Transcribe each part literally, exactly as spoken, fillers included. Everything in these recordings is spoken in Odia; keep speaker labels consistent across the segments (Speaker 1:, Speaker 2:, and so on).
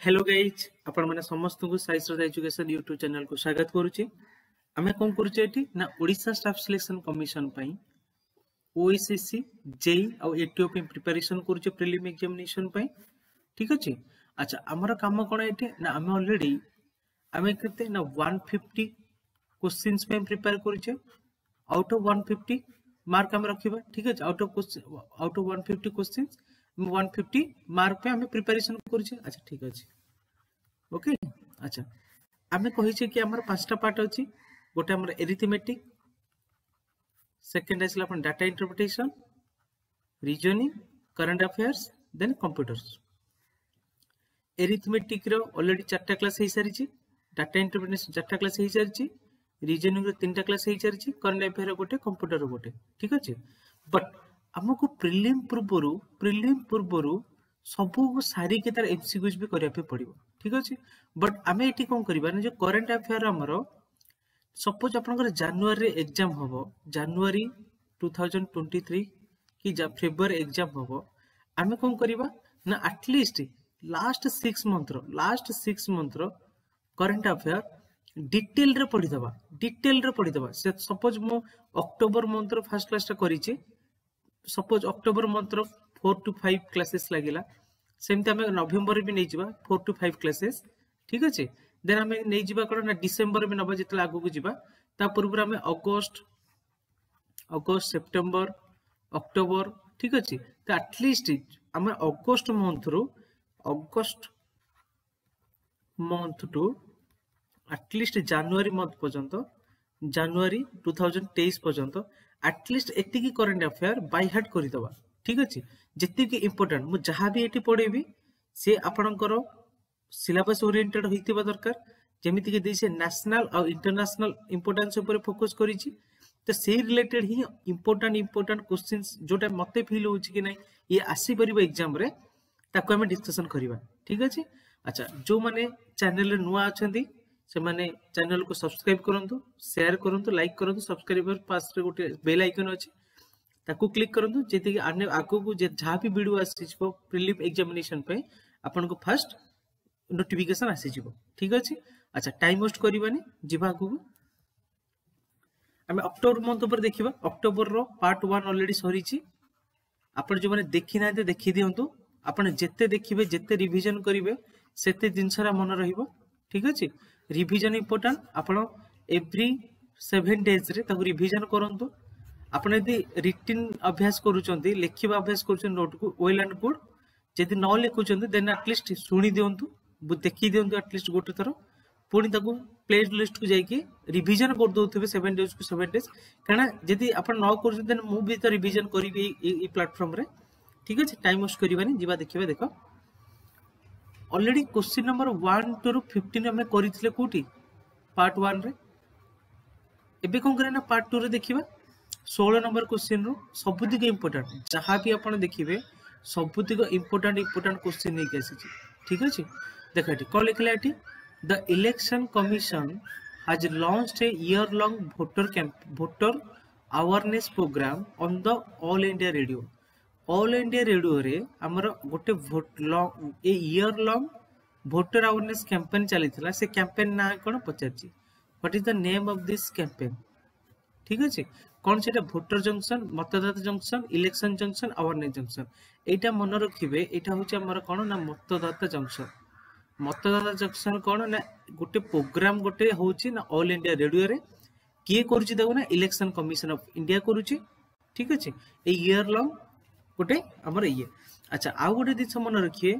Speaker 1: ହ୍ୟାଲୋ ଗାଇଜ୍ ଆପଣମାନେ ସମସ୍ତଙ୍କୁ ସାଇ ଶ୍ରଦ୍ଧା ଏଜୁକେସନ ୟୁଟ୍ୟୁବ ଚ୍ୟାନେଲକୁ ସ୍ୱାଗତ କରୁଛି ଆମେ କ'ଣ କରୁଛେ ଏଠି ନା ଓଡ଼ିଶା ଷ୍ଟାଫ୍ ସିଲେକ୍ସନ କମିଶନ ପାଇଁ ଓଏସଏସସି ଜେଇ ଆଉ ଏଟିଓ ପାଇଁ ପ୍ରିପାରେସନ କରୁଛେ ପ୍ରିଲିମ୍ ଏକ୍ଜାମିନେସନ ପାଇଁ ଠିକ ଅଛି ଆଚ୍ଛା ଆମର କାମ କ'ଣ ଏଠି ନା ଆମେ ଅଲରେଡି ଆମେ କେତେ ନା ୱାନ୍ ଫିଫ୍ଟି କୋଶ୍ଚିନ୍ସ ପାଇଁ ପ୍ରିପେୟାର କରୁଛେ out of one fifty mark ଆମେ ରଖିବା ଠିକ ଅଛି out of out of one fifty questions one fifty mark ପାଇଁ ଆମେ ପ୍ରିପାରେସନ କରୁଛେ ଆଚ୍ଛା ଠିକ ଅଛି ଓକେ ଆଚ୍ଛା ଆମେ କହିଛେ କି ଆମର ପାଞ୍ଚଟା ପାର୍ଟ ଅଛି ଗୋଟେ ଆମର ଏରିଥମେଟିକ ସେକେଣ୍ଡ ଆସିଲା ଆପଣ data interpretation reasoning current affairs then computers ଏରିଥମେଟିକର already ଚାରିଟା କ୍ଲାସ୍ ହେଇସାରିଛି ଡାଟା ଇଣ୍ଟରପ୍ରିଟେସନ ଚାରିଟା କ୍ଲାସ୍ ହେଇସାରିଛି ରିଜନିଂର ତିନିଟା କ୍ଲାସ୍ ହେଇସାରିଛି କରେଣ୍ଟ ଆଫେୟାର ଗୋଟେ କମ୍ପ୍ୟୁଟର ଗୋଟେ ଠିକ ଅଛି ବଟ୍ ଆମକୁ ପ୍ରିଲିମ୍ ପୂର୍ବରୁ ପ୍ରିଲିମ୍ ପୂର୍ବରୁ ସବୁ ସାରିକି ତାର ଏମସିକ୍ୟୁଜ ବି କରିବା ପାଇଁ ପଡିବ ଠିକ ଅଛି ବଟ୍ ଆମେ ଏଠି କଣ କରିବା ନା ଯୋଉ କରେଣ୍ଟ ଆଫେୟାର ଆମର ସପୋଜ ଆପଣଙ୍କର ଜାନୁଆରୀରେ ଏକ୍ଜାମ ହବ ଜାନୁଆରୀ ଟୁ ଥାଉଜେଣ୍ଡ ଟ୍ୱେଣ୍ଟି ଥ୍ରୀ କି ଫେବୃଆରୀ ଏକ୍ଜାମ ହବ ଆମେ କଣ କରିବା ନା ଆଟଲିଷ୍ଟ ଲାଷ୍ଟ ସିକ୍ସ ମନ୍ଥର ଲାଷ୍ଟ ସିକ୍ସ ମନ୍ଥର କରେଣ୍ଟ ଆଫେୟାର ଡିଟେଲରେ ପଢିଦେବା ଡିଟେଲରେ ପଢିଦେବା ସେ ସପୋଜ ମୁଁ ଅକ୍ଟୋବର ମନ୍ଥର ଫାର୍ଷ୍ଟ କ୍ଲାସଟା କରିଛି ସପୋଜ ଅକ୍ଟୋବର ମନ୍ଥର ଫୋର୍ ଟୁ ଫାଇଭ କ୍ଲାସେସ୍ ଲାଗିଲା ସେମିତି ଆମେ ନଭେମ୍ବରରେ ବି ନେଇଯିବା ଫୋର୍ ଟୁ ଫାଇଭ କ୍ଲାସେସ୍ ଠିକ ଅଛି ଦେନ୍ ଆମେ ନେଇଯିବା କ'ଣ ନା ଡିସେମ୍ବର ବି ନେବା ଯେତେବେଳେ ଆଗକୁ ଯିବା ତା ପୂର୍ବରୁ ଆମେ ଅଗଷ୍ଟ ଅଗଷ୍ଟ ସେପ୍ଟେମ୍ବର ଅକ୍ଟୋବର ଠିକ ଅଛି ତ ଆଟଲିଷ୍ଟ ଆମେ August ମନ୍ଥରୁ August month to at least January month ପର୍ଯ୍ୟନ୍ତ ଜାନୁଆରୀ ଟୁ ଥାଉଜେଣ୍ଡ ତେଇଶ ପର୍ଯ୍ୟନ୍ତ ଆଟଲିଷ୍ଟ ଏତିକି କରେଣ୍ଟ ଆଫେୟାର ବାଇ ହାର୍ଟ କରିଦେବା ଠିକ ଅଛି ଯେତିକି ଇମ୍ପୋର୍ଟାଣ୍ଟ ମୁଁ ଯାହା ବି ଏଠି ପଢେଇବି ସେ ଆପଣଙ୍କର ସିଲାବସ୍ ଓରିଏଣ୍ଟେଡ୍ ହେଇଥିବା ଦରକାର ଯେମିତିକି ଦେଇছে ନ୍ୟାସନାଲ ଆଉ ଇଣ୍ଟରନ୍ୟାସନାଲ ଇମ୍ପୋର୍ଟାନ୍ସ ଉପରେ ଫୋକସ୍ କରିଛି ତ ସେଇ ରିଲେଟେଡ୍ ହିଁ ଇମ୍ପୋର୍ଟାଣ୍ଟ ଇମ୍ପୋର୍ଟାଣ୍ଟ କୋଶ୍ଚିନ୍ସ ଯୋଉଟା ମତେ ଫିଲ୍ ହଉଛି କି ନାଇଁ ଇଏ ଆସିପାରିବ ଏକ୍ଜାମରେ ତାକୁ ଆମେ ଡିସ୍କସନ କରିବା ଠିକ ଅଛି ଆଚ୍ଛା ଯୋଉମାନେ ଚ୍ୟାନେଲରେ ନୂଆ ଅଛନ୍ତି ସେମାନେ ଚ୍ୟାନେଲକୁ ସବସ୍କ୍ରାଇବ କରନ୍ତୁ ସେୟାର କରନ୍ତୁ ଲାଇକ୍ କରନ୍ତୁ ସବସ୍କ୍ରାଇବର ପାଶରେ ଗୋଟେ ବେଲ୍ ଆଇକନ୍ ଅଛି ତାକୁ କ୍ଲିକ୍ କରନ୍ତୁ ଯେତିକି ଆଗକୁ ଯାହା ବି ଭିଡ଼ିଓ ଆସିଯିବ ପ୍ରିଲିମ୍ ଏକ୍ଜାମିନେସନ ପାଇଁ ଆପଣଙ୍କୁ ଫାଷ୍ଟ ନୋଟିଫିକେସନ ଆସିଯିବ ଠିକ ଅଛି ଆଚ୍ଛା ଟାଇମ୍ ୱେଷ୍ଟ କରିବାନି ଯିବା ଆଗକୁ ଆମେ ଅକ୍ଟୋବର ମନ୍ଥ ଉପରେ ଦେଖିବା ଅକ୍ଟୋବରର ପାର୍ଟ ୱାନ୍ ଅଲରେଡି ସରିଛି ଆପଣ ଯୋଉମାନେ ଦେଖିନାହାନ୍ତି ଦେଖିଦିଅନ୍ତୁ ଆପଣ ଯେତେ ଦେଖିବେ ଯେତେ ରିଭିଜନ କରିବେ ସେତେ ଜିନିଷଟା ମନେ ରହିବ ଠିକ ଅଛି ରିଭିଜନ ଇମ୍ପୋର୍ଟାଣ୍ଟ ଆପଣ ଏଭ୍ରି ସେଭେନ ଡେଜରେ ତାକୁ ରିଭିଜନ କରନ୍ତୁ ଆପଣ ଯଦି ରିଟିନ୍ ଅଭ୍ୟାସ କରୁଛନ୍ତି ଲେଖିବା ଅଭ୍ୟାସ କରୁଛନ୍ତି ନୋଟକୁ ୱେଲ୍ ଆଣ୍ଡ ଗୁଡ୍ ଯଦି ନ ଲେଖୁଛନ୍ତି ଦେନ୍ ଆଟଲିଷ୍ଟ ଶୁଣି ଦିଅନ୍ତୁ ଦେଖି ଦିଅନ୍ତୁ ଆଟଲିଷ୍ଟ ଗୋଟେ ଥର ପୁଣି ତାକୁ ପ୍ଲେ ଲିଷ୍ଟକୁ ଯାଇକି ରିଭିଜନ କରିଦଉଥିବେ ସେଭେନ ଡେଜକୁ ସେଭେନ ଡେଜ୍ କାରଣ ଯଦି ଆପଣ ନ କରୁଛନ୍ତି ଦେନ୍ ମୁଁ ବି ତ ରିଭିଜନ କରିବି ଏଇ ପ୍ଲାଟଫର୍ମରେ ଠିକ ଅଛି ଟାଇମ୍ ୱେଷ୍ଟ କରିବାନି ଯିବା ଦେଖିବା ଦେଖ already question number one to fifteen ଆମେ କରିଥିଲେ କୋଉଠି ପାର୍ଟ ୱାନ୍ରେ ଏବେ କଣ କରିବା ନା ପାର୍ଟ ଟୁରେ ଦେଖିବା ଷୋହଳ ନମ୍ବର କୋଶ୍ଚିନ୍ରୁ ସବୁତିକ ଇମ୍ପୋର୍ଟାଣ୍ଟ ଯାହା ବି ଆପଣ ଦେଖିବେ ସବୁତିକ ଇମ୍ପୋର୍ଟାଣ୍ଟ ଇମ୍ପୋର୍ଟାଣ୍ଟ କୋଶ୍ଚିନ୍ ନେଇକି ଆସିଛି ଠିକ ଅଛି ଦେଖ ଏଠି କଣ ଲେଖିଲା ଏଠି the Election Commission has launched a year long voter camp voter awareness program on the All India Radio all India ରେଡିଓରେ ଆମର ଗୋଟେ ଏ year long voter awareness campaign ଚାଲିଥିଲା ସେ କ୍ୟାମ୍ପେନ୍ ନାଁ କଣ ପଚାରିଛି what is the name of this campaign ଠିକ ଅଛି କଣ ସେଟା ଭୋଟର ଜଙ୍କସନ ମତଦାତା junction election junction awareness junction ଏଇଟା ମନେ ରଖିବେ ଏଇଟା ହଉଛି ଆମର କଣ ନା ମତଦାତା ଜଙ୍କସନ ମତଦାତା ଜଙ୍କସନ କଣ ନା ଗୋଟେ ପ୍ରୋଗ୍ରାମ ଗୋଟେ ହଉଛି ନା ଅଲ୍ ଇଣ୍ଡିଆ ରେଡିଓରେ କିଏ କରୁଛି ତାକୁ ନା ଇଲେକ୍ସନ କମିଶନ ଅଫ ଇଣ୍ଡିଆ କରୁଛି ଠିକ ଅଛି ଏଇ ଇୟର ଲଙ୍ଗ ଗୋଟେ ଆମର ଇଏ ଆଚ୍ଛା ଆଉ ଗୋଟେ ଜିନିଷ ମନେ ରଖିବେ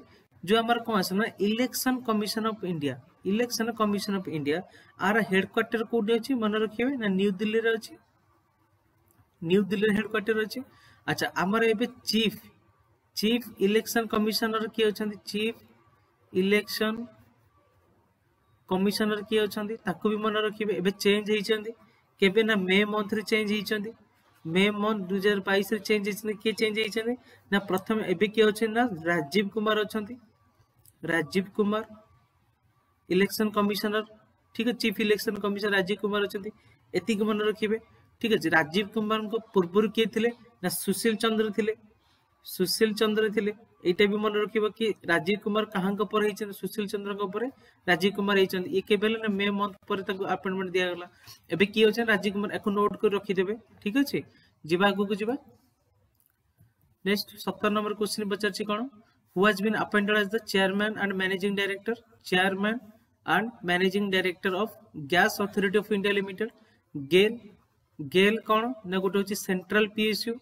Speaker 1: ଯୋଉ ଆମର କଣ ଆସେ ନା Election Commission of India Election Commission of India R headquarter କୋଉଠି ଅଛି ମନେ ରଖିବେ ନା ନ୍ୟୁ ଦିଲ୍ଲୀରେ ଅଛି ନ୍ୟୁ ଦିଲ୍ଲୀରେ ହେଡକ୍ୱାର୍ଟର ଅଛି ଆଚ୍ଛା ଆମର ଏବେ ଚିଫ ଚିଫ ଇଲେକ୍ସନ କମିଶନର କିଏ ଅଛନ୍ତି ଚିଫ ଇଲେକ୍ସନ କମିଶନର କିଏ ଅଛନ୍ତି ତାକୁ ବି ମନେ ରଖିବେ ଏବେ ଚେଞ୍ଜ ହେଇଛନ୍ତି କେବେ ନା ମେ ମନ୍ଥରେ ଚେଞ୍ଜ ହେଇଛନ୍ତି ମେ ମନ୍ଥ ଦୁଇ ହଜାର ବାଇଶରେ ଚେଞ୍ଜ ହେଇଛନ୍ତି କିଏ ଚେଞ୍ଜ ହେଇଛନ୍ତି ନା ପ୍ରଥମେ ଏବେ କିଏ ଅଛନ୍ତି ନା ରାଜୀବ କୁମାର ଅଛନ୍ତି ରାଜୀବ କୁମାର ଇଲେକ୍ସନ କମିଶନର ଠିକ ଅଛି chief election commissioner Rajiv Kumar ଅଛନ୍ତି ଏତିକି ମନେ ରଖିବେ ଠିକ ଅଛି ରାଜୀବ କୁମାରଙ୍କ ପୂର୍ବରୁ କିଏ ଥିଲେ ନା ସୁଶୀଲ ଚନ୍ଦ୍ର ଥିଲେ ସୁଶୀଲ ଚନ୍ଦ୍ର ଥିଲେ ଏଇଟା ବି ମନେ ରଖିବ କି ରାଜୀବ କୁମାର କାହାଙ୍କ ପରେ ହେଇଛନ୍ତି ସୁଶୀଲ ଚନ୍ଦ୍ରଙ୍କ ପରେ ରାଜୀବ କୁମାର ହେଇଛନ୍ତି ଇଏ କେବେ ହେଲେ ନା ମେ ମନ୍ଥ ପରେ ତାଙ୍କୁ ଆପଏଣ୍ଟମେଣ୍ଟ ଦିଆଗଲା ଏବେ କିଏ ଅଛନ୍ତି ରାଜୀବ କୁମାର ୟାକୁ ନୋଟ୍ କରି ରଖିଦେବେ ଠିକ ଅଛି ଯିବା ଆଗକୁ ଯିବା ନେକ୍ସଟ ସତର ନମ୍ବର କ୍ୱେଶ୍ଚିନ୍ ପଚାରିଛି କ'ଣ who has been appointed as the chairman and managing director chairman and managing director of gas authority of india limited gail gail କ'ଣ ନା ଗୋଟେ ହଉଛି central PSU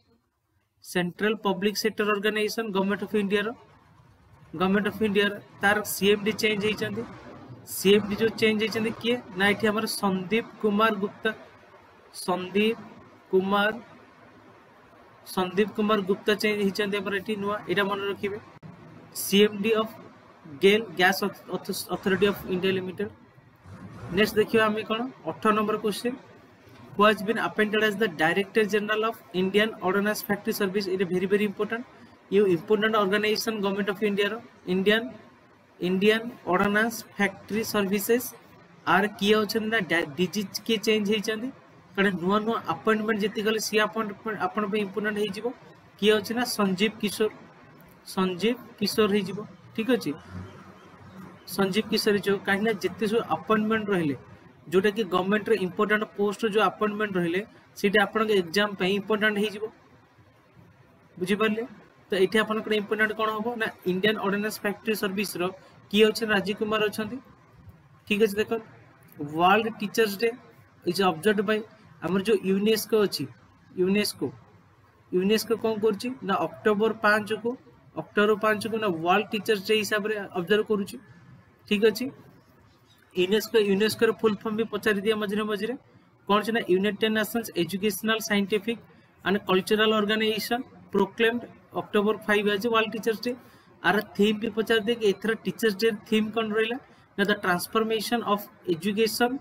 Speaker 1: central public sector organization government of ଇଣ୍ଡିଆର ଗଭର୍ଣ୍ଣମେଣ୍ଟ ଅଫ ଇଣ୍ଡିଆର ତାର ସିଏମଡି ଚେଞ୍ଜ ହେଇଛନ୍ତି ସିଏମଡି ଯୋଉ ଚେଞ୍ଜ ହେଇଛନ୍ତି କିଏ ନା ଏଠି ଆମର ସନ୍ଦୀପ କୁମାର ଗୁପ୍ତା ସନ୍ଦୀପ କୁମାର ସନ୍ଦୀପ କୁମାର ଗୁପ୍ତା ଚେଞ୍ଜ ହେଇଛନ୍ତି ଆମର ଏଠି ନୂଆ ଏଇଟା ମନେ ରଖିବେ CMD of GAIL Gas Authority of India Limited next ଦେଖିବା ଆମେ କ'ଣ ଅଠର number question who has been appointed as the Director General of Indian Ordnance Factory Service it is very very important you important organization government of India ର Indian Indian Ordnance Factory Services ଆର କିଏ ଅଛନ୍ତି ନା ଡିଜି କିଏ ଚେଞ୍ଜ ହେଇଛନ୍ତି କାରଣ ନୂଆ ନୂଆ ଆପଏଣ୍ଟମେଣ୍ଟ ଯେତିକି ଗଲେ ସିଏ ଆପଏଣ୍ଟମେଣ୍ଟ ଆପଣଙ୍କ ପାଇଁ ଇମ୍ପୋର୍ଟାଣ୍ଟ ହେଇଯିବ କିଏ ଅଛି ନା ସଞ୍ଜୀବ କିଶୋର ସଞ୍ଜୀବ କିଶୋର ହେଇଯିବ ଠିକ ଅଛି ସଞ୍ଜୀବ କିଶୋର ହେଇଯିବ କାହିଁକି ନା ଯେତେ ସବୁ ଆପଏଣ୍ଟମେଣ୍ଟ ରହିଲେ ଯୋଉଟା କି ଗଭର୍ଣ୍ଣମେଣ୍ଟର ଇମ୍ପୋର୍ଟାଣ୍ଟ ପୋଷ୍ଟ ଯୋଉ ଆପଏଣ୍ଟମେଣ୍ଟ ରହିଲେ ସେଇଟା ଆପଣଙ୍କ ଏକ୍ଜାମ ପାଇଁ ଇମ୍ପୋର୍ଟାଣ୍ଟ ହେଇଯିବ ବୁଝିପାରିଲେ ତ ଏଠି ଆପଣଙ୍କର ଇମ୍ପୋର୍ଟାଣ୍ଟ କ'ଣ ହବ ନା ଇଣ୍ଡିଆନ ଅର୍ଡିନାନ୍ସ ଫ୍ୟାକ୍ଟ୍ରି ସର୍ଭିସର କିଏ ଅଛନ୍ତି ରାଜୀବ କୁମାର ଅଛନ୍ତି ଠିକ ଅଛି ଦେଖ World Teachers Day is observed by ଆମର ଯୋଉ ୟୁନେସ୍କୋ ଅଛି ୟୁନେସ୍କୋ ୟୁନେସ୍କୋ କ'ଣ କରୁଛି ନା ଅକ୍ଟୋବର ପାଞ୍ଚକୁ ଅକ୍ଟୋବର ପାଞ୍ଚକୁ ନା ୱାର୍ଲଡ ଟିଚର୍ସ ଡେ ହିସାବରେ ଅବଜର୍ଭ କରୁଛି ଠିକ ଅଛି ୟୁନେସ୍କୋ ୟୁନେସ୍କୋର ଫୁଲ ଫର୍ମ ବି ପଚାରି ଦିଏ ମଝିରେ ମଝିରେ କ'ଣ ଅଛି ନା United Nations Educational Scientific and Cultural Organization proclaimed October five as World Teachers Day R theme ବି ପଚାରି ଦିଏ କି ଏଥର ଟିଚର୍ସ ଡେ ଥିମ୍ କ'ଣ ରହିଲା ନା the transformation of education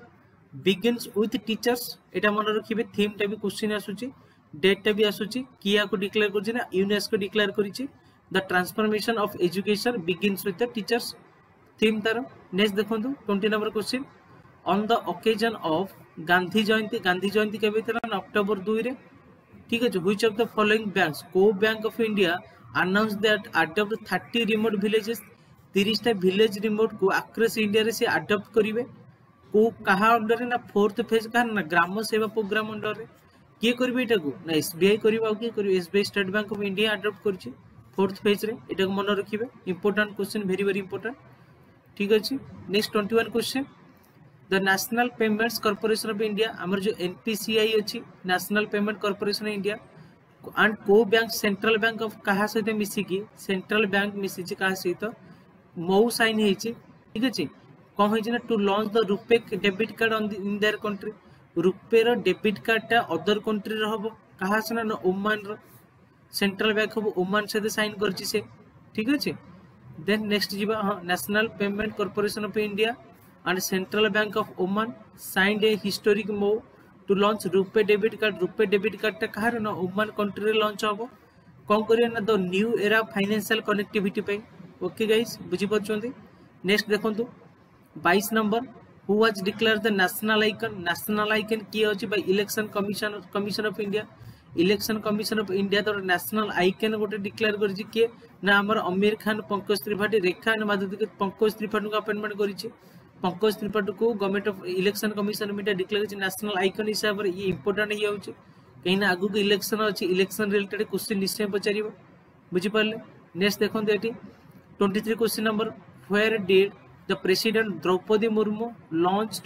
Speaker 1: begins with teachers ଏଇଟା ମନେ ରଖିବେ ଥିମ୍ଟା ବି କ୍ୱେଶ୍ଚିନ୍ ଆସୁଛି ଡେଟ୍ଟା ବି ଆସୁଛି କିଏ ୟାକୁ ଡିକ୍ଲେୟାର କରୁଛି ନା ୟୁନେସ୍କୋ ଡିକ୍ଲେୟାର କରିଛି the transformation of education begins with the teachers theme ତାର ନେକ୍ସଟ ଦେଖନ୍ତୁ twenty number question on the occasion of Gandhi Jayanti Gandhi Jayanti କେବେ ଥିଲା ନା ଅକ୍ଟୋବର ଦୁଇରେ ଠିକ ଅଛି which of the following banks କୋଉ Bank of India announce that adopt thirty remote villages ତିରିଶଟା ଭିଲେଜ ରିମୋଟକୁ ଆକ୍ରସ୍ ଇଣ୍ଡିଆରେ ସେ ଆଡପ୍ଟ କରିବେ କୋଉ କାହା ଅଣ୍ଡରରେ ନା ଫୋର୍ଥ ଫେଜ୍ କାହାର ନା ଗ୍ରାମ ସେବା ପ୍ରୋଗ୍ରାମ ଅଣ୍ଡରରେ କିଏ କରିବେ ଏଇଟାକୁ ନା ଏସବିଆଇ କରିବ ଆଉ କିଏ କରିବ SBI State Bank of India adopt କରିଛି ଫୋର୍ଥ ଫେଜ୍ରେ ଏଟାକୁ ମନେ ରଖିବେ important question very very important ଠିକ ଅଛି next twenty one question the National Payments Corporation of India ଆମର ଯୋଉ ଏନପିସିଆଇ ଅଛି National Payment Corporation of India and କୋଉ ବ୍ୟାଙ୍କ ସେଣ୍ଟ୍ରାଲ ବ୍ୟାଙ୍କ ଅଫ କାହା ସହିତ ମିଶିକି ସେଣ୍ଟ୍ରାଲ ବ୍ୟାଙ୍କ ମିଶିଛି କାହା ସହିତ ଏମଓୟୁ ସାଇନ୍ ହେଇଛି ଠିକ ଅଛି କ'ଣ ହେଇଛି ନା to launch the RuPay debit card on in their country ରୁପେର debit କାର୍ଡଟା ଅଦର କଣ୍ଟ୍ରିର ହବ କାହା ସହ ନା ଓମାନର ସେଣ୍ଟ୍ରାଲ ବ୍ୟାଙ୍କ ଅଫ ଓମାନ ସହିତ ସାଇନ୍ କରିଛି ସେ ଠିକ ଅଛି ଦେନ୍ ନେକ୍ସଟ ଯିବା ହଁ National Payment Corporation of India and Central Bank of Oman signed a historic MoU to launch RuPay debit card RuPay debit କାର୍ଡଟା କାହାର ନା ଓମାନ କଣ୍ଟ୍ରିରେ ଲଞ୍ଚ ହବ କ'ଣ କରିବେ ନା the new era financial connectivity ପାଇଁ ଓକେ ଗାଇସ୍ ବୁଝିପାରୁଛନ୍ତି ନେକ୍ସଟ ଦେଖନ୍ତୁ ବାଇଶ number who was declared the national icon national icon କିଏ ଅଛି by Election Commission Commission of India Election Commission of India ତ ନ୍ୟାସନାଲ ଆଇକନ୍ ଗୋଟେ ଡିକ୍ଲେୟାର କରିଛି କିଏ ନା ଆମର ଅମୀର ଖାନ ପଙ୍କଜ ତ୍ରିପାଠୀ ରେଖା ଆଣ୍ଡ ମାଧୁରୀ ପଙ୍କଜ ତ୍ରିପାଠୀଙ୍କୁ ଆପଏଣ୍ଟମେଣ୍ଟ କରିଛି ପଙ୍କଜ ତ୍ରିପାଠୀକୁ Government of Election Commission of India declare କରିଛି ନ୍ୟାସନାଲ ଆଇକନ୍ ହିସାବରେ ଇଏ ଇମ୍ପୋର୍ଟାଣ୍ଟ ହେଇଯାଉଛି କାହିଁକିନା ଆଗକୁ ଇଲେକ୍ସନ ଅଛି ଇଲେକ୍ସନ ରିଲେଟେଡ୍ କ୍ୱେଶ୍ଚିନ୍ ନିଶ୍ଚୟ ପଚାରିବ ବୁଝିପାରିଲେ ନେକ୍ସଟ ଦେଖନ୍ତୁ ଏଠି twenty three question number where did the President Droupadi Murmu launched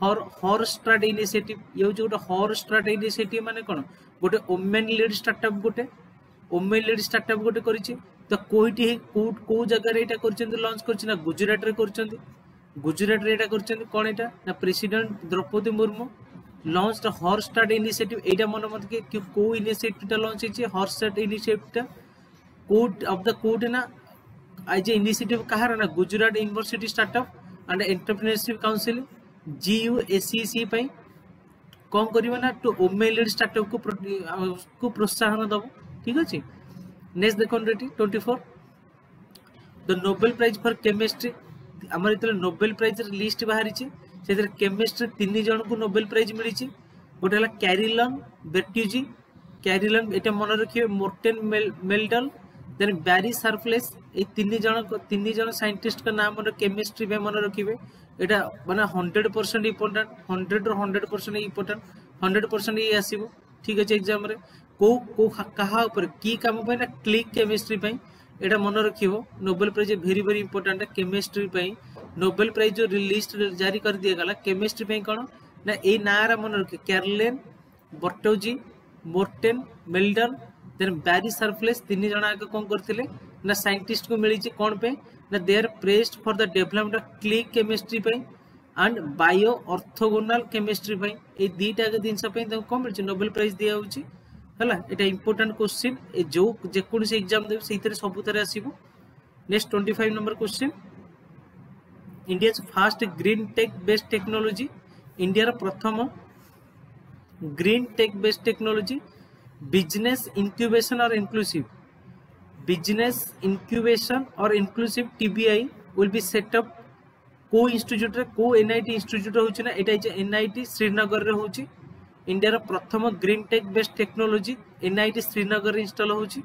Speaker 1: her Her Start initiative ଇଏ ହେଉଛି ଗୋଟେ ହର ଷ୍ଟାର୍ଟ ଇନିସିଏଟିଭ ମାନେ କ'ଣ ଗୋଟେ ଓମେନ୍ ଲିଡ୍ ଷ୍ଟାର୍ଟଅପ୍ ଗୋଟେ ଓମେନ୍ ଲିଡ୍ ଷ୍ଟାର୍ଟଅପ୍ ଗୋଟେ କରିଛି ତ କୋଉଠି କୋଉ କୋଉ ଜାଗାରେ ଏଇଟା କରିଛନ୍ତି ଲଞ୍ଚ କରିଛି ନା ଗୁଜୁରାଟରେ କରିଛନ୍ତି ଗୁଜୁରାଟରେ ଏଇଟା କରିଛନ୍ତି କ'ଣ ଏଇଟା ନା President Droupadi Murmu launch Her Start initiative ଏଇଟା ମନେ ମତେ କି କୋଉ ଇନିସିଏଟିଭଟା ଲଞ୍ଚ ହେଇଛି ହର ଷ୍ଟାର୍ଟ ଇନିସିଏଟିଭଟା କୋଉ ଅଫ the କୋଉଠି ନା ଆଜ ଏ ଇନିସିଏଟିଭ କାହାର ନା Gujarat University Startup and Entrepreneurship Council GUSEC ପାଇଁ କ'ଣ କରିବ ନା ଟୁ ଓମେନ୍ ଲିଡ୍ ଷ୍ଟାର୍ଟଅପ୍ କୁ କୁ ପ୍ରୋତ୍ସାହନ ଦବ ଠିକ ଅଛି ନେକ୍ସଟ ଦେଖନ୍ତୁ ଏଠି twenty four the Nobel Prize for Chemistry ଆମର ଯେତେବେଳେ ନୋବେଲ ପ୍ରାଇଜର ଲିଷ୍ଟ ବାହାରିଛି ସେଥିରେ କେମିଷ୍ଟ୍ରି ତିନି ଜଣଙ୍କୁ ନୋବେଲ ପ୍ରାଇଜ ମିଳିଛି ଗୋଟେ ହେଲା କ୍ୟାରିଲନ ବେର୍ଟୁଜି କ୍ୟାରିଲନ ଏଇଟା ମନେ ରଖିବେ ମୋର୍ଟେନ ମେଲଡଲ ଦେନ୍ ବ୍ୟାରି ସାର୍ପଲେସ୍। ଏଇ ତିନି ଜଣ ତିନି ଜଣ ସାଇଣ୍ଟିଷ୍ଟଙ୍କ ନାଁ ମନେ କେମିଷ୍ଟ୍ରି ପାଇଁ ମନେ ରଖିବେ। ଏଇଟା ମାନେ ହଣ୍ଡ୍ରେଡ ପରସେଣ୍ଟ ଇମ୍ପୋର୍ଟାଣ୍ଟ, ହଣ୍ଡ୍ରେଡ ରୁ hundred percent important, hundred percent ଇଏ ଆସିବ, ଠିକ ଅଛି। ଏକ୍ଜାମରେ କୋଉ କୋଉ କାହା ଉପରେ କି କାମ ପାଇଁ ନା କ୍ଲିକ୍ କେମିଷ୍ଟ୍ରି ପାଇଁ, ଏଇଟା ମନେ ରଖିବ। Nobel Prize very very important chemistry ପାଇଁ। ନୋବେଲ ପ୍ରାଇଜ ଯୋଉ ଲିଷ୍ଟ ଜାରି କରିଦିଆଗଲା କେମିଷ୍ଟ୍ରି ପାଇଁ କ'ଣ ନା ଏଇ ନାଁଟା ମନେ ରଖିବ, କ୍ୟାରଲେନ୍ ବର୍ଟୋଜି, ମୋର୍ଟେନ୍ ମେଲଡର, ଦେନ୍ ବ୍ୟାରି ସାର୍ପଲେସ୍। ତିନି ଜଣ ଆଗ କ'ଣ କରିଥିଲେ ନା ସାଇଣ୍ଟିଷ୍ଟକୁ ମିଳିଛି କ'ଣ ପାଇଁ ନା they are praised for the development of click chemistry ପାଇଁ ଆଣ୍ଡ ବାୟୋ ଅର୍ଥୋଗୋନାଲ କେମିଷ୍ଟ୍ରି ପାଇଁ। ଏଇ ଦିଟା ଆଗ ଜିନିଷ ପାଇଁ ତାଙ୍କୁ କ'ଣ ମିଳିଛି? ନୋବେଲ ପ୍ରାଇଜ ଦିଆହଉଛି, ହେଲା। ଏଇଟା ଇମ୍ପୋର୍ଟାଣ୍ଟ କୋଶ୍ଚିନ୍, ଏ ଯୋଉ ଯେକୌଣସି ଏକ୍ଜାମ ଦେବେ ସେଇଥିରେ ସବୁଥିରେ ଆସିବ। Next twenty five number question, India's first green tech based technology. ଇଣ୍ଡିଆର ପ୍ରଥମ green tech based technology business incubation or inclusive business incubation or inclusive T B I will be set up କୋଉ ଇନଷ୍ଟିଚ୍ୟୁଟରେ, କୋଉ ଏନ୍ଆଇଟି ଇନଷ୍ଟିଚ୍ୟୁଟ ହଉଛି ନା ଏଇଟା ହେଇଛି ଏନ୍ଆଇଟି ଶ୍ରୀନଗରରେ ହଉଛି। ଇଣ୍ଡିଆର ପ୍ରଥମ green take based technology N I T ଶ୍ରୀନଗରରେ ଇନଷ୍ଟଲ ହଉଛି,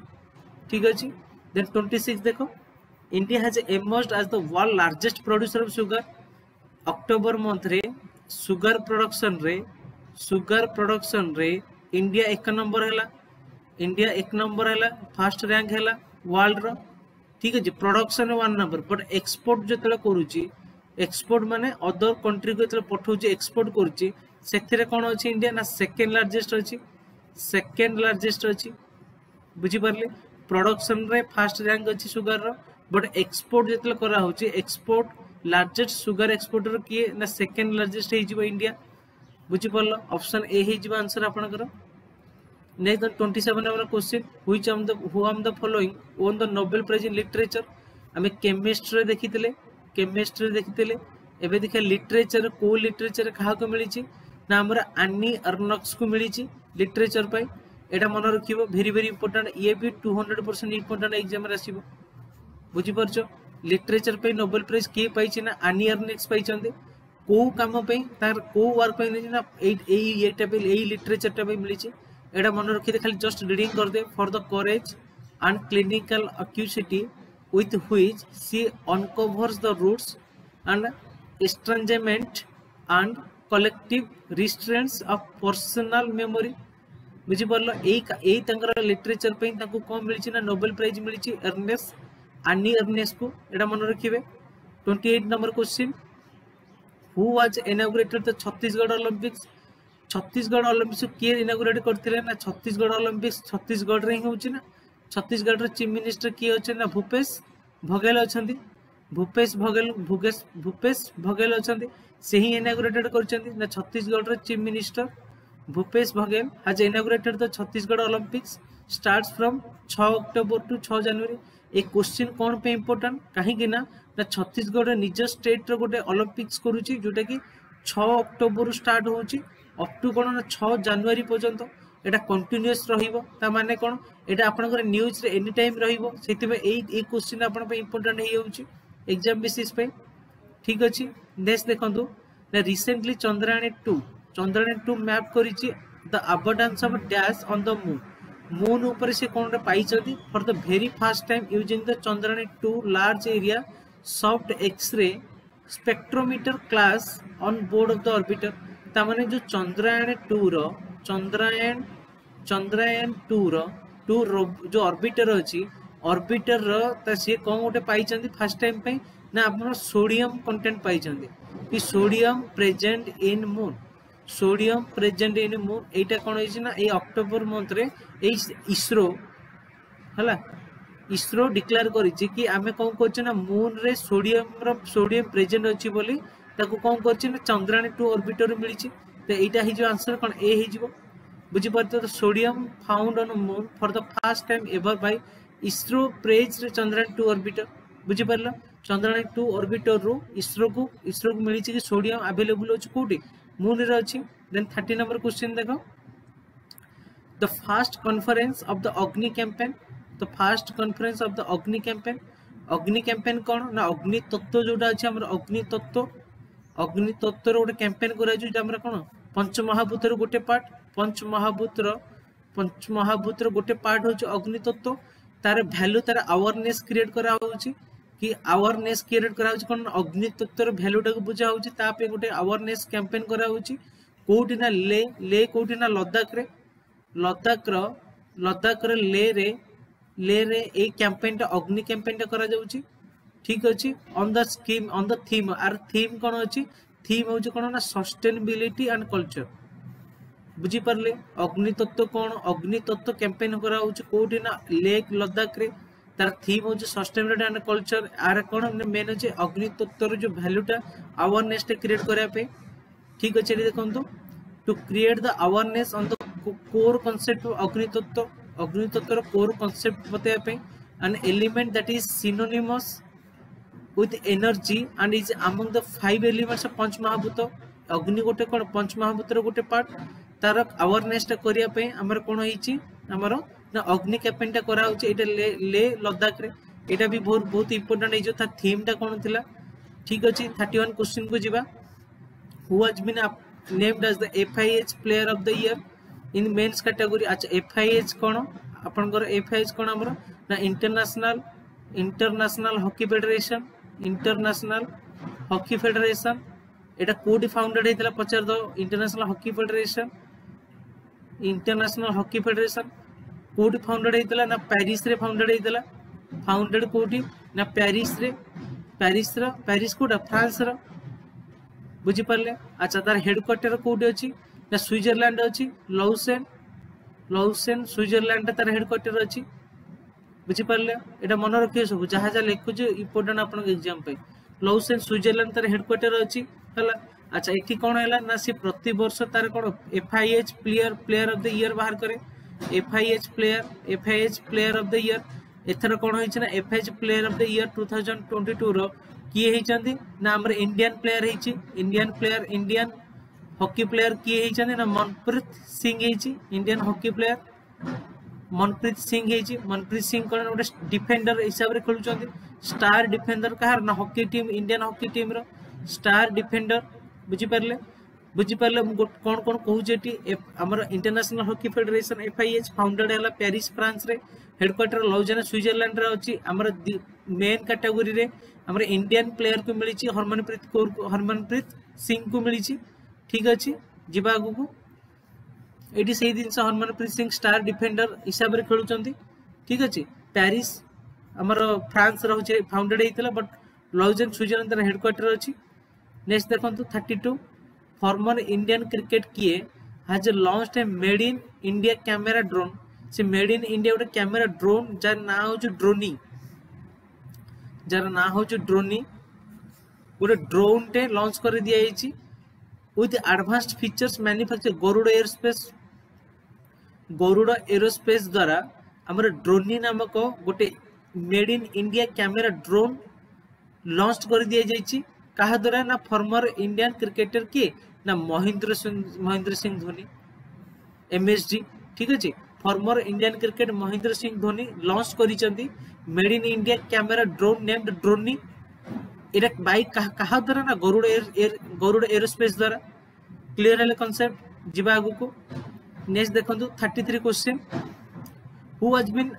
Speaker 1: ଠିକ ଅଛି। ଦେନ୍ ଟ୍ୱେଣ୍ଟି ସିକ୍ସ ଦେଖ, India has emerged as the world largest producer of sugar. October ମନ୍ଥରେ ସୁଗାର ପ୍ରଡକ୍ସନରେ ସୁଗାର ପ୍ରଡକ୍ସନରେ ଇଣ୍ଡିଆ ଏକ ନମ୍ବର ହେଲା। ଇଣ୍ଡିଆ ଏକ ନମ୍ବର ହେଲା, ଫାର୍ଷ୍ଟ ରାଙ୍କ ହେଲା ୱାର୍ଲଡର, ଠିକ ଅଛି। Production one number, but export ଯେତେବେଳେ କରୁଛି, ଏକ୍ସପୋର୍ଟ ମାନେ ଅଦର କଣ୍ଟ୍ରିକୁ ଯେତେବେଳେ ପଠଉଛି, ଏକ୍ସପୋର୍ଟ କରୁଛି, ସେଥିରେ କ'ଣ ଅଛି ଇଣ୍ଡିଆ ନା ସେକେଣ୍ଡ ଲାର୍ଜେଷ୍ଟ ଅଛି, ସେକେଣ୍ଡ ଲାର୍ଜେଷ୍ଟ ଅଛି, ବୁଝିପାରିଲେ? ପ୍ରଡକ୍ସନରେ ଫାର୍ଷ୍ଟ ରାଙ୍କ ଅଛି ସୁଗାରର, ବଟ୍ ଏକ୍ସପୋର୍ଟ ଯେତେବେଳେ କରାହଉଛି, ଏକ୍ସପୋର୍ଟ ଲାର୍ଜେଷ୍ଟ ସୁଗାର ଏକ୍ସପୋର୍ଟର କିଏ ନା ସେକେଣ୍ଡ ଲାର୍ଜେଷ୍ଟ ହେଇଯିବ ଇଣ୍ଡିଆ, ବୁଝିପାରିଲ? ଅପସନ ଏ ହେଇଯିବ ଆନ୍ସର ଆପଣଙ୍କର। Next, twenty seven number question, which among the who among the following won the Nobel Prize in Literature? ଆମେ କେମିଷ୍ଟ୍ରିରେ ଦେଖିଥିଲେ, କେମିଷ୍ଟ୍ରିରେ ଦେଖିଥିଲେ। ଏବେ ଦେଖିବା ଲିଟରେଚର, କୋଉ ଲିଟରେଚର କାହାକୁ ମିଳିଛି ନା ଆମର ଆନି ଅର୍ନକ୍ସକୁ ମିଳିଛି ଲିଟରେଚର ପାଇଁ। ଏଇଟା ମନେ ରଖିବ, ଭେରି ଭେରି ଇମ୍ପୋର୍ଟାଣ୍ଟ। ଇଏ ବି ଟୁ ହଣ୍ଡ୍ରେଡ ପରସେଣ୍ଟ ଇମ୍ପୋର୍ଟାଣ୍ଟ ଏକ୍ଜାମରେ ଆସିବ, ବୁଝିପାରୁଛ? ଲିଟରେଚର ପାଇଁ ନୋବେଲ ପ୍ରାଇଜ କିଏ ପାଇଛି ନା ଆନି ଅର୍ନେକ୍ସ ପାଇଛନ୍ତି। କୋଉ କାମ ପାଇଁ, ତାର କୋଉ ୱାର୍କ ପାଇଁ ମିଳିଛି ନା ଏଇ ଏଇ ଇଏଟା ପାଇଁ, ଏଇ ଲିଟରେଚରଟା ପାଇଁ ମିଳିଛି। ଏଇଟା ମନେ ରଖିଦେ, ଖାଲି ଜଷ୍ଟ ରିଡିଂ କରିଦେ। For the courage and clinical acuity with which she uncovers the roots and estrangement and collective restraints of personal memory, ବୁଝିପାରିଲ? ଏଇ ଏଇ ତାଙ୍କର ଲିଟରେଚର ପାଇଁ ତାଙ୍କୁ କ'ଣ ମିଳିଛି ନା ନୋବେଲ ପ୍ରାଇଜ ମିଳିଛି ଏର୍ନେସ୍ ଆନି ଏର୍ନେସକୁ, ଏଇଟା ମନେ ରଖିବେ। Twenty eight number question, who was inaugurated the Chhattisgarh Olympics? Chhattisgarh Olympics କିଏ ଇନାଗୁରେଟ୍ କରିଥିଲେ ନା ଛତିଶଗଡ଼ ଅଲିମ୍ପିକ୍ସ ଛତିଶଗଡ଼ରେ ହିଁ ହେଉଛି ନା ଛତିଶଗଡ଼ର ଚିଫ୍ ମିନିଷ୍ଟର କିଏ ଅଛନ୍ତି ନା ଭୂପେଶ ବଘେଲ ଅଛନ୍ତି। ଭୂପେଶ ବଘେଲ ଭୂଗେଶ ଭୂପେଶ ବଘେଲ ଅଛନ୍ତି, ସେ ହିଁ ଇନାଗୁରେଟେଡ୍ କରିଛନ୍ତି ନା ଛତିଶଗଡ଼ର chief minister Bhupesh Baghel has inaugurated the Chhattisgarh Olympics, starts from ଛଅ ଅକ୍ଟୋବର ଟୁ ଛଅ ଜାନୁଆରୀ। ଏ କୋଶ୍ଚିନ୍ କ'ଣ ପାଇଁ ଇମ୍ପୋର୍ଟାଣ୍ଟ? କାହିଁକି ନା ନା ଛତିଶଗଡ଼ ନିଜ ଷ୍ଟେଟ୍ର ଗୋଟେ ଅଲିମ୍ପିକ୍ସ କରୁଛି, ଯୋଉଟା କି ଛଅ ଅକ୍ଟୋବରରୁ ଷ୍ଟାର୍ଟ ହେଉଛି, ଅପ୍ ଟୁ କ'ଣ ନା ଛଅ ଜାନୁଆରୀ ପର୍ଯ୍ୟନ୍ତ ଏଇଟା କଣ୍ଟିନ୍ୟୁଅସ୍ ରହିବ। ତା ମାନେ କ'ଣ? ଏଇଟା ଆପଣଙ୍କର ନ୍ୟୁଜ୍ରେ ଏନି ଟାଇମ୍ ରହିବ। ସେଥିପାଇଁ ଏଇ ଏଇ କୋଶ୍ଚିନ୍ ଆପଣଙ୍କ ପାଇଁ ଇମ୍ପୋର୍ଟାଣ୍ଟ ହେଇଯାଉଛି ଏକ୍ଜାମ ବେସିସ୍ ପାଇଁ, ଠିକ ଅଛି। ନେକ୍ସଟ ଦେଖନ୍ତୁ ନା recently Chandrayaan two Chandrayaan two map କରିଛି the abundance of dash on the moon. Moon ଉପରେ ସେ କ'ଣ ଗୋଟେ ପାଇଛନ୍ତି for the very first time using the Chandrayaan two Large Area Soft X-ray Spectrometer class on board of the orbiter. ତାମାନେ ଯୋଉ ଚନ୍ଦ୍ରାୟଣ ଟୁ ର ଚନ୍ଦ୍ରାୟଣ ଚନ୍ଦ୍ରାୟଣ ଟୁ ର ଟୁ ଯୋଉ ଅର୍ବିଟର ଅଛି, ଅର୍ବିଟର ର ତା ସିଏ କ'ଣ ଗୋଟେ ପାଇଛନ୍ତି ଫାର୍ଷ୍ଟ ଟାଇମ୍ ପାଇଁ ନା ଆପଣ ସୋଡିୟମ କଣ୍ଟେଣ୍ଟ ପାଇଛନ୍ତି କି sodium present in moon, sodium present in moon. ଏଇଟା କ'ଣ ହେଇଛି ନା ଏଇ ଅକ୍ଟୋବର ମନ୍ଥରେ ଏଇ ଇସ୍ରୋ ହେଲା, ଇସ୍ରୋ ଡିକ୍ଲେୟାର କରିଛି କି ଆମେ କ'ଣ କରୁଛେ ନା ମୁନରେ ସୋଡିୟମର ସୋଡିୟମ ପ୍ରେଜେଣ୍ଟ ଅଛି ବୋଲି ତାକୁ କ'ଣ କରିଛି ନା ଚନ୍ଦ୍ରାୟଣ ଟୁ ଅର୍ବିଟର ମିଳିଛି। ତ ଏଇଟା ହେଇଯିବ ଆନ୍ସର କ'ଣ? ଏ ହେଇଯିବ, ବୁଝିପାରୁଛ ତ? Sodium found on moon for the first time ever by ISRO praise Chandrayaan two orbiter, ବୁଝିପାରିଲ? ଚନ୍ଦ୍ରାୟଣ ଟୁ ଅର୍ବିଟରରୁ ଇସ୍ରୋକୁ ଇସ୍ରୋକୁ ମିଳିଛି କି ସୋଡିୟମ ଆଭେଲେବୁଲ ଅଛି କୋଉଠି? ମୁନରେ ଅଛି। ଦେନ୍ ଥାର୍ଟି ନମ୍ବର କ୍ୱେଶ୍ଚିନ୍ ଦେଖ, the first conference of the Agni campaign, the first conference of the Agni campaign. Agni campaign କ'ଣ ନା ଅଗ୍ନି ତତ୍ତ୍ୱ ଯୋଉଟା ଅଛି ଆମର, ଅଗ୍ନି ତତ୍ତ୍ୱ ଅଗ୍ନି ତତ୍ତ୍ୱର ଗୋଟେ କ୍ୟାମ୍ପେନ୍ କରାଯାଉଛି, ଯୋଉଟା ଆମର କ'ଣ ପଞ୍ଚମହାଭୂତର ଗୋଟେ ପାର୍ଟ, ପଞ୍ଚମହାଭୂତର ପଞ୍ଚମହାଭୂତର ଗୋଟେ ପାର୍ଟ ହଉଛି ଅଗ୍ନି ତତ୍ତ୍ୱ। ତାର ଭ୍ୟାଲୁ ତାର ଆୱାରନେସ୍ କ୍ରିଏଟ୍ କରାହଉଛି କି ଆୱାରନେସ୍ କ୍ରିଏଟ୍ କରାହଉଛି କ'ଣ ନା ଅଗ୍ନି ତତ୍ତ୍ୱର ଭ୍ୟାଲୁଟାକୁ ବୁଝା ହଉଛି ତା ପାଇଁ ଗୋଟେ ଆୱାରନେସ୍ କ୍ୟାମ୍ପେନ୍ କରାହଉଛି କୋଉଠି ନା ଲେ ଲେ କୋଉଠି ନା ଲଦାଖରେ ଲଦାଖର ଲଦାଖର ଲେରେ ଲେରେ ଏଇ କ୍ୟାମ୍ପେନ୍ଟା ଅଗ୍ନି କ୍ୟାମ୍ପେନ୍ଟା କରାଯାଉଛି ଠିକ ଅଛି on the scheme on the theme R theme କ'ଣ ଅଛି ଥିମ୍ ହଉଛି କ'ଣ ନା ସଷ୍ଟେନେବିଲିଟି ଆଣ୍ଡ କଲଚର ବୁଝିପାରିଲେ ଅଗ୍ନି ତତ୍ତ୍ୱ କ'ଣ ଅଗ୍ନି ତତ୍ତ୍ୱ କ୍ୟାମ୍ପେନ୍ କରାହଉଛି କୋଉଠି ନା ଲେକ୍ ଲଦାଖରେ ତାର ଥିମ୍ ହଉଛି ସଷ୍ଟେନେବିଲିଟି ଆଣ୍ଡ କଲଚର ଆର କ'ଣ ମେନ୍ ହଉଛି ଅଗ୍ନି ତତ୍ତ୍ୱର ଯୋଉ ଭ୍ୟାଲୁଟା ଆୱାରନେସଟା କ୍ରିଏଟ୍ କରିବା ପାଇଁ ଠିକ ଅଛି ଏଠି ଦେଖନ୍ତୁ to create the awareness on the core concept of ଅଗ୍ନି ତତ୍ତ୍ୱ ଅଗ୍ନି ତତ୍ତ୍ୱର କୋର୍ କନସେପ୍ଟ ବତାଇବା ପାଇଁ an element that is synonymous with energy and is among the five elements of ପଞ୍ଚ ମହାଭୂତ ଅଗ୍ନି ଗୋଟେ କ'ଣ ପଞ୍ଚ ମହାଭୂତର ଗୋଟେ ପାର୍ଟ ତାର ଆୱାରନେସଟା କରିବା ପାଇଁ ଆମର କ'ଣ ହେଇଛି ଆମର ନା ଅଗ୍ନି କ୍ୟାମ୍ପେନ୍ଟା କରାହଉଛି ଏଇଟା ଲେ ଲେ ଲଦାଖରେ ଏଇଟା ବି ବହୁତ ବହୁତ ଇମ୍ପୋର୍ଟାଣ୍ଟ ହେଇଯିବ ତା ଥିମ୍ଟା କ'ଣ ଥିଲା ଠିକ ଅଛି ଥାର୍ଟି ୱାନ୍ କ୍ୱେଶ୍ଚିନ୍କୁ ଯିବା who has been named as the FIH player of the year in men's category ଆଚ୍ଛା FIH କ'ଣ ଆପଣଙ୍କର FIH କ'ଣ ଆମର ନା international international hockey federation international hockey federation ଏଇଟା କୋଉଠି ଫାଉଣ୍ଡେଡ ହେଇଥିଲା ପଚାରିଦବ international hockey federation international hockey federation କୋଉଠି ଫାଉଣ୍ଡେଡ ହେଇଥିଲା ନା ପ୍ୟାରିସରେ ଫାଉଣ୍ଡେଡ ହେଇଥିଲା ଫାଉଣ୍ଡେଡ କୋଉଠି ନା ପ୍ୟାରିସରେ ପ୍ୟାରିସର ପ୍ୟାରିସ କୋଉଟା ଫ୍ରାନ୍ସର ବୁଝିପାରିଲେ ଆଚ୍ଛା ତାର ହେଡକ୍ୱାର୍ଟର କୋଉଠି ଅଛି ନା ସୁଇଜରଲ୍ୟାଣ୍ଡ ଅଛି ଲଉସେନ୍ ଲଉସେନ୍ ସୁଇଜରଲ୍ୟାଣ୍ଡରେ ତାର ହେଡକ୍ୱାର୍ଟର ଅଛି ବୁଝିପାରିଲେ ଏଇଟା ମନେ ରଖିବେ ସବୁ ଯାହା ଯାହା ଲେଖୁଛି ଇମ୍ପୋର୍ଟାଣ୍ଟ ଆପଣଙ୍କ ଏକ୍ଜାମ ପାଇଁ ଲଉସେନ୍ ସୁଇଜରଲ୍ୟାଣ୍ଡ ତାର ହେଡକ୍ୱାର୍ଟର ଅଛି ହେଲା ଆଚ୍ଛା ଏଠି କ'ଣ ହେଲା ନା ସେ ପ୍ରତିବର୍ଷ ତାର କ'ଣ FIH player player of the year ବାହାର କରେ FIH player FIH player of the year ଏଥର କ'ଣ ହେଇଛି ନା FIH player of the year two thousand twenty tour କିଏ ହେଇଛନ୍ତି ନା ଆମର ଇଣ୍ଡିଆନ ପ୍ଲେୟାର ହେଇଛି Indian player Indian hockey player କିଏ ହେଇଛନ୍ତି ନା ମନପ୍ରୀତ ସିଂ ହେଇଛି Indian hockey player Manpreet Singh ହେଇଛି ମନପ୍ରୀତ ସିଂ କ'ଣ ଗୋଟେ ଡିଫେଣ୍ଡର ହିସାବରେ ଖେଳୁଛନ୍ତି ଷ୍ଟାର ଡିଫେଣ୍ଡର କାହାର ନା ହକି ଟିମ୍ ଇଣ୍ଡିଆନ ହକି ଟିମ୍ର ଷ୍ଟାର ଡିଫେଣ୍ଡର ବୁଝିପାରିଲେ ବୁଝିପାରିଲେ ମୁଁ କ'ଣ କ'ଣ କହୁଛି ଏଠି ଆମର international hockey federation FIH ଫାଉଣ୍ଡେଡ ହେଲା ପ୍ୟାରିସ ଫ୍ରାନ୍ସରେ ହେଡକ୍ୱାର୍ଟର ଲଉଜାନା ସୁଇଜରଲ୍ୟାଣ୍ଡରେ ଅଛି ଆମର ମେନ୍ କାଟାଗୋରୀରେ ଆମର ଇଣ୍ଡିଆନ ପ୍ଲେୟାରକୁ ମିଳିଛି ହରମନପ୍ରୀତ କୌର ହରମନପ୍ରୀତ ସିଂଙ୍କୁ ମିଳିଛି ଠିକ ଅଛି ଯିବା ଆଗକୁ ଏଇଠି ସେଇ ଜିନିଷ ହରମନପ୍ରୀତ ସିଂ ଷ୍ଟାର ଡିଫେଣ୍ଡର ହିସାବରେ ଖେଳୁଛନ୍ତି ଠିକ ଅଛି ପ୍ୟାରିସ ଆମର ଫ୍ରାନ୍ସ ରହୁଛି ଫାଉଣ୍ଡେଡ ହେଇଥିଲା ବଟ୍ ଲଉଜେନ୍ ସୁଇଜରଲ୍ୟାଣ୍ଡ ତାର ହେଡକ୍ୱାର୍ଟର ଅଛି ନେକ୍ସଟ ଦେଖନ୍ତୁ thirty two former Indian cricket କିଏ has launch a made in India camera drone ସେ ମେଡ୍ ଇନ୍ ଇଣ୍ଡିଆ ଗୋଟେ କ୍ୟାମେରା ଡ୍ରୋନ୍ ଯାର ନାଁ ହଉଛି ଡ୍ରୋନି ଯାର ନାଁ ହଉଛି ଡ୍ରୋନି ଗୋଟେ ଡ୍ରୋନ୍ଟେ ଲଞ୍ଚ କରି ଦିଆଯାଇଛି with advanced features manufacture Garuda aerospace Garuda aerospace ଦ୍ୱାରା ଆମର ଡ୍ରୋନି ନାମକ ଗୋଟେ made in India camera drone launch କରି ଦିଆଯାଇଛି କାହା ଦ୍ୱାରା ନା ଫର୍ମର ଇଣ୍ଡିଆନ କ୍ରିକେଟର କିଏ ନା ମହେନ୍ଦ୍ର ସିଂ ମହେନ୍ଦ୍ର ସିଂ ଧୋନି ଏମଏସଡି ଠିକ ଅଛି former Indian cricket Mahendra Singh Dhoni launch କରିଛନ୍ତି made in India camera drone named Droni ଏଇଟା ବାଇ କାହା ଦ୍ୱାରା ନା ଗରୁଡ଼ ଏୟାର ଗରୁଡ଼ ଏରୋସ୍ପେସ୍ ଦ୍ୱାରା କ୍ଲିୟର ହେଲେ କନସେପ୍ଟ ଯିବା ଆଗକୁ ନେକ୍ସଟ ଦେଖନ୍ତୁ thirty three question who has been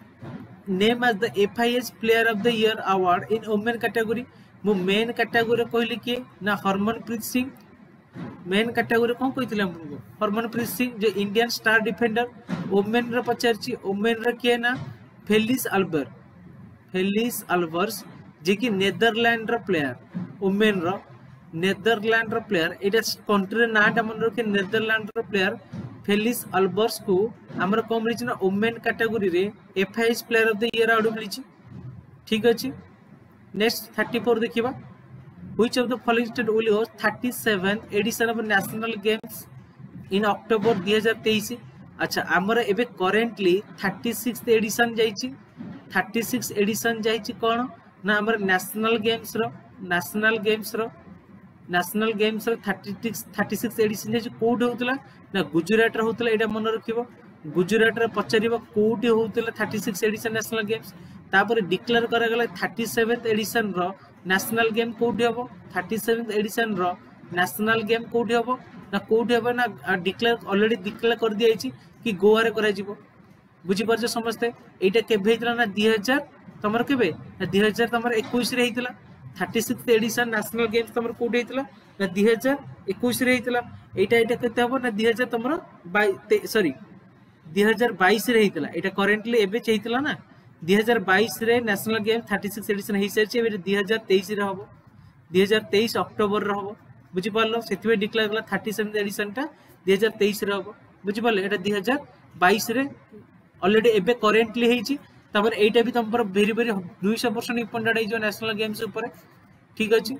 Speaker 1: named as the FIH Player of the Year award in women category ମୁଁ ମେନ୍ କାଟାଗୋରୀ କହିଲି କିଏ ନା ହରମନପ୍ରୀତ ସିଂ ମେନ୍ କାଟାଗୋରୀ କ'ଣ କହିଥିଲି ଆପଣଙ୍କୁ ହରମନପ୍ରୀତ ସିଂ ଯେ ଇଣ୍ଡିଆନ ଷ୍ଟାର ଡିଫେଣ୍ଡର ଓମେନ୍ ର ପଚାରିଛି ଓମେନ୍ ର କିଏ ନା ଫେଲିସ୍ ଆଲବର ଫେଲିସ୍ ଆଲବର୍ସ ଯିଏକି ନେଦରଲ୍ୟାଣ୍ଡର ପ୍ଲେୟାର ଓମେନ୍ ର ନେଦରଲ୍ୟାଣ୍ଡର ପ୍ଲେୟାର ଏଇଟା କଣ୍ଟ୍ରିର ନାଁଟା ମନେ ରଖିବେ ନେଦରଲ୍ୟାଣ୍ଡର ପ୍ଲେୟାର ଫେଲିସ୍ ଆଲବର୍ସକୁ ଆମର କ'ଣ ମିଳିଛି ନା ଓମେନ୍ କାଟାଗୋରୀରେ FIH player of the year award ମିଳିଛି ଠିକ ଅଛି ନେକ୍ସଟ ଥାର୍ଟି ଫୋର ଦେଖିବା which of the following state will host thirty seven edition of national games in October ଦୁଇ ହଜାର ତେଇଶ ଆଚ୍ଛା ଆମର ଏବେ କରେଣ୍ଟଲି ଥାର୍ଟି ସିକ୍ସ ଏଡିସନ ଯାଇଛି ଥାର୍ଟି ସିକ୍ସ ଏଡିସନ ଯାଇଛି କ'ଣ ନା ଆମର ନ୍ୟାସନାଲ ଗେମ୍ସର ନ୍ୟାସନାଲ ଗେମ୍ସର ନ୍ୟାସନାଲ ଗେମ୍ସର thirty six thirty six edition ଯାଇଛି କୋଉଠି ହଉଥିଲା ନା ଗୁଜୁରାଟରେ ହଉଥିଲା ଏଇଟା ମନେ ରଖିବ ଗୁଜୁରାଟରେ ପଚାରିବ କୋଉଠି ହଉଥିଲା thirty six edition national games ତାପରେ ଡିକ୍ଲେୟାର କରାଗଲା ଥାର୍ଟି ସେଭେନ୍ଥ ଏଡିସନର ନ୍ୟାସନାଲ ଗେମ୍ କୋଉଠି ହବ ଥାର୍ଟି ସେଭେନ୍ଥ ଏଡିସନର ନ୍ୟାସନାଲ ଗେମ୍ କୋଉଠି ହବ ନା କୋଉଠି ହବ ନା ଡିକ୍ଲେୟାର ଅଲରେଡି ଡିକ୍ଲେୟାର କରିଦିଆଯାଇଛି କି ଗୋଆରେ କରାଯିବ ବୁଝିପାରୁଛ ସମସ୍ତେ ଏଇଟା କେବେ ହେଇଥିଲା ନା ଦୁଇ ହଜାର ତମର କେବେ ନା ଦୁଇ ହଜାର ତମର ଏକୋଇଶରେ ହେଇଥିଲା thirty six edition National Games ତମର କୋଉଠି ହେଇଥିଲା ନା ଦୁଇ ହଜାର ଏକୋଇଶରେ ହେଇଥିଲା ଏଇଟା ଏଇଟା କେତେ ହବ ନା ଦୁଇ ହଜାର ତମର ସରି ଦୁଇ ହଜାର ବାଇଶରେ ହେଇଥିଲା ଏଇଟା କରେଣ୍ଟଲି ଏବେ ହେଇଥିଲା ନା ଦୁଇ ହଜାର ବାଇଶରେ National Games thirty six edition ହେଇସାରିଛି ଏବେ ଦୁଇ ହଜାର ତେଇଶରେ ହବ ଦୁଇ ହଜାର ତେଇଶ ଅକ୍ଟୋବରରେ ହବ ବୁଝିପାରିଲ ସେଥିପାଇଁ ଡିକ୍ଲେୟାର କଲା ଥାର୍ଟି ସେଭେନ୍ଥ ଏଡିସନଟା ଦୁଇ ହଜାର ତେଇଶରେ ହବ ବୁଝିପାରିଲେ ଏଇଟା ଦୁଇ ହଜାର ବାଇଶରେ ଅଲରେଡି ଏବେ କରେଣ୍ଟଲି ହେଇଛି ତାପରେ ଏଇଟା ବି ତମର ଭେରି ଭେରି ଦୁଇଶହ ପରସେଣ୍ଟ ଇମ୍ପୋର୍ଟାଣ୍ଟ ହେଇଯିବ ନ୍ୟାସନାଲ ଗେମ୍ସ ଉପରେ ଠିକ ଅଛି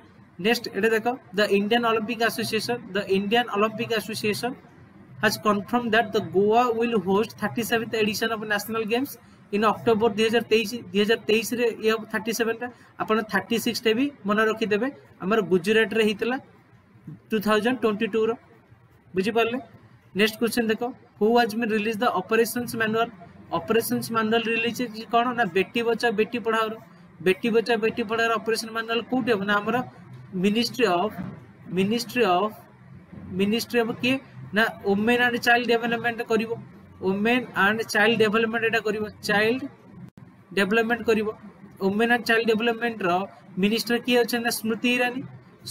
Speaker 1: ନେକ୍ସଟ ଏଟା ଦେଖ the Indian Olympic Association the Indian Olympic Association has confirmed that the Goa will host thirty-seventh edition of National Games in October ଦୁଇ ହଜାର ତେଇଶ ଦୁଇ ହଜାର ତେଇଶରେ ଇଏ ହବ ଥାର୍ଟି ସେଭେନଟା ଆପଣ ଥାର୍ଟି ସିକ୍ସଟା ବି ମନେ ରଖିଦେବେ ଆମର ଗୁଜୁରାଟରେ ହେଇଥିଲା ଟୁ ଥାଉଜେଣ୍ଡ ଟ୍ୱେଣ୍ଟି ଟୁର ବୁଝିପାରିଲେ ନେକ୍ସଟ କ୍ୱେଶ୍ଚନ ଦେଖ who has been release the operations manual operations manual release କ'ଣ ନା ବେଟି ବଚାଓ ବେଟି ପଢାଓର ବେଟି ବଚାଓ ବେଟି ପଢାଓର ଅପରେସନ ମାନୁଆଲ କୋଉଠି ହବ ନା ଆମର ministry of ministry of ministry of କିଏ ନା ଓମେନ୍ ଆଣ୍ଡ ଚାଇଲ୍ଡ ଡେଭଲପମେଣ୍ଟ କରିବ ଓମେନ୍ ଆଣ୍ଡ ଚାଇଲ୍ଡ ଡେଭଲପମେଣ୍ଟ ଏଟା କରିବ ଚାଇଲ୍ଡ ଡେଭଲପମେଣ୍ଟ କରିବ ଓମେନ୍ ଆଣ୍ଡ ଚାଇଲ୍ଡ ଡେଭଲପମେଣ୍ଟର ମିନିଷ୍ଟର କିଏ ଅଛନ୍ତି ନା ସ୍ମୃତି ଇରାନୀ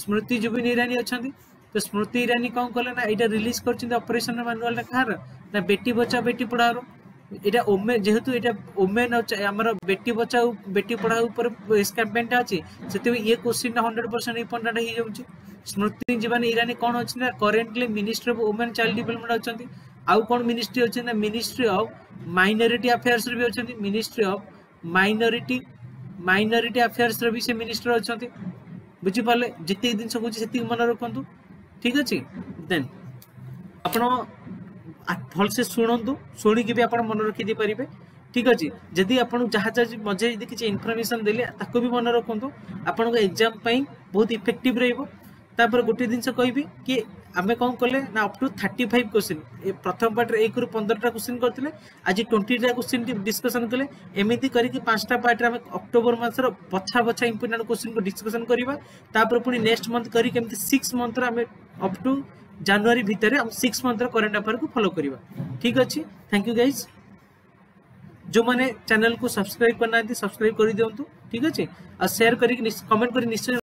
Speaker 1: ସ୍ମୃତି ଜୁବିନ ଇରାନୀ ଅଛନ୍ତି ତ ସ୍ମୃତି ଇରାନୀ କ'ଣ କଲେ ନା ଏଇଟା ରିଲିଜ କରିଛନ୍ତି ଅପରେସନ ମାନୁଆଲଟା କାହାର ନା ବେଟି ବଚାଓ ବେଟି ପଢାଓର ଏଇଟା ଓମେନ୍ ଯେହେତୁ ଏଇଟା ଓମେନ୍ ଆମର ବେଟି ବଚାଓ ବେଟି ପଢାଓ ଉପରେ କ୍ୟାମ୍ପେନଟା ଅଛି ସେଥିପାଇଁ ଇଏ କ୍ୱେଶ୍ଚିନ୍ଟା ହଣ୍ଡ୍ରେଡ ପରସେଣ୍ଟ ଇମ୍ପୋର୍ଟାଣ୍ଟ ହେଇଯାଉଛି ସ୍ମୃତି ଜୁବିନ ଇରାନୀ କ'ଣ ଅଛି ନା currently minister of women child development ଅଛନ୍ତି ଆଉ କ'ଣ ମିନିଷ୍ଟ୍ରି ଅଛି ନା ମିନିଷ୍ଟ୍ରି ଅଫ ମାଇନରିଟି ଆଫେୟାର୍ସରେ ବି ଅଛନ୍ତି ମିନିଷ୍ଟ୍ରି ଅଫ ମାଇନରିଟି ମାଇନରିଟି ଆଫେୟାର୍ସର ବି ସେ ମିନିଷ୍ଟର ଅଛନ୍ତି ବୁଝିପାରିଲେ ଯେତିକି ଜିନିଷ କହୁଛି ସେତିକି ମନେ ରଖନ୍ତୁ ଠିକ ଅଛି ଦେନ୍ ଆପଣ ଭଲସେ ଶୁଣନ୍ତୁ ଶୁଣିକି ବି ଆପଣ ମନେ ରଖିଦେଇ ପାରିବେ ଠିକ ଅଛି ଯଦି ଆପଣଙ୍କୁ ଯାହା ଯାହା ମଝିରେ ଯଦି କିଛି ଇନଫର୍ମେସନ ଦେଲେ ତାକୁ ବି ମନେ ରଖନ୍ତୁ ଆପଣଙ୍କ ଏକ୍ଜାମ ପାଇଁ ବହୁତ ଇଫେକ୍ଟିଭ ରହିବ ତାପରେ ଗୋଟେ ଜିନିଷ କହିବି କି ଆମେ କ'ଣ କଲେ ନା up to thirty five question ପ୍ରଥମ ପାର୍ଟରେ ଏକରୁ ପନ୍ଦରଟା କ୍ୱେଶ୍ଚିନ୍ କରିଥିଲେ ଆଜି ଟ୍ୱେଣ୍ଟିଟା କ୍ୱେଶ୍ଚିନ୍ ଡିସ୍କସନ୍ କଲେ ଏମିତି କରିକି ପାଞ୍ଚଟା ପାର୍ଟରେ ଆମେ ଅକ୍ଟୋବର ମାସର ବଛା ବଛା ଇମ୍ପୋର୍ଟାଣ୍ଟ କ୍ୱେଶ୍ଚିନ୍କୁ ଡିସ୍କସନ୍ କରିବା ତାପରେ ପୁଣି ନେକ୍ସଟ ମନ୍ଥ କରିକି ଏମିତି ସିକ୍ସ ମନ୍ଥର ଆମେ ଅପ୍ ଟୁ ଜାନୁଆରୀ ଭିତରେ ଆମେ ସିକ୍ସ ମନ୍ଥର କରେଣ୍ଟ ଆଫେୟାରକୁ ଫଲୋ କରିବା ଠିକ ଅଛି thank you guys ଯେଉଁମାନେ ଚ୍ୟାନେଲକୁ ସବସ୍କ୍ରାଇବ କରିନାହାନ୍ତି ସବସ୍କ୍ରାଇବ କରିଦିଅନ୍ତୁ ଠିକ ଅଛି ଆଉ ସେୟାର କରିକି କମେଣ୍ଟ କରି ନିଶ୍ଚୟ